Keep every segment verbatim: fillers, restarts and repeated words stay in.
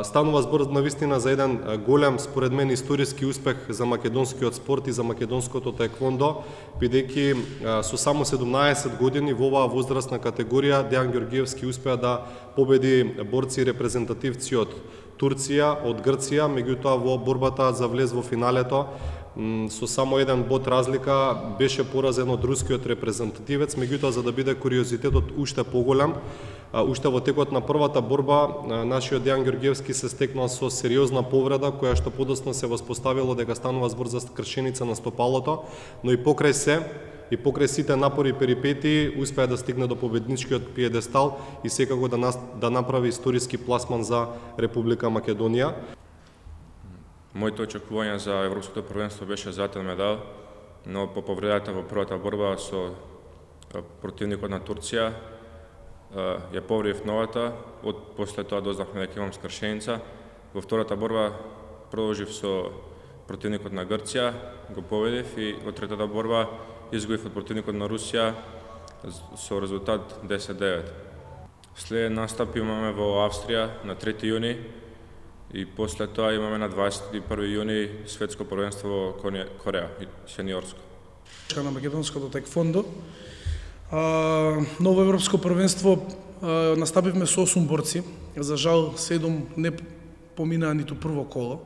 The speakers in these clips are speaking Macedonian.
Станува збор навистина за еден голем, според мен, историски успех за македонскиот спорт и за македонското таеквондо, бидејќи со само седумнаесет години во оваа возрастна категорија Дејан Ѓорѓиевски успеа да победи борци и репрезентативци од Турција, од Грција, меѓутоа во борбата за влез во финалето со само еден бод разлика беше поразен од рускиот репрезентативец, меѓутоа за да биде куриозитетот уште поголем, уште во текот на првата борба нашиот Дејан Ѓорѓиевски се стекнал со сериозна повреда која што подоцна се воспоставило дека станува збор за кршеница на стопалото, но и покрај се и покрај сите напори и перипетии успеа да стигне до победничкиот пиедестал и секако да, нас, да направи историски пласман за Република Македонија. Моите очекувања за Европското првенство беше златен медал, но по повредата во првата борба со противникот на Турција ја повредив новата, од после тоа дознавме дека имам скршеница. Во втората борба продолжив со противникот на Грција, го победив и во третата борба изгубив од противникот на Русија со резултат десет девет. Следен настап имаме во Австрија на трети јуни и после тоа имаме на дваесет и први јуни светско првенство во Кореја, сениорско. На македонското таеквондо ново европско првенство настапивме со осум борци. За жал седум не поминаа ниту прво коло.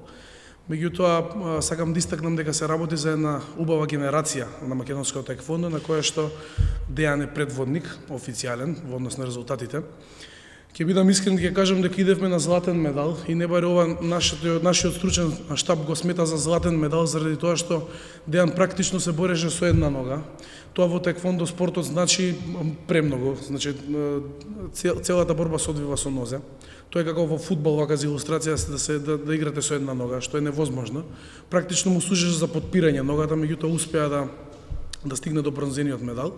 Меѓутоа сакам да истакнам дека се работи за една убава генерација на македонското таеквондо на која што Дејан е предводник официјален во однос на резултатите. Ќе бидам искрен да ќе кажам дека идевме на златен медал и не баре ова нашиот, нашиот стручен штаб го смета за златен медал заради тоа што Дејан практично се бореше со една нога. Тоа во таеквондо спортот значи премногу, значи целата борба се одвива со нозе. Тоа е како во фудбал, вака за илустрација да се да, да играте со една нога, што е невозможно. Практично му служеше за потпирање ногата, меѓутоа успеа да да стигне до бронзениот медал.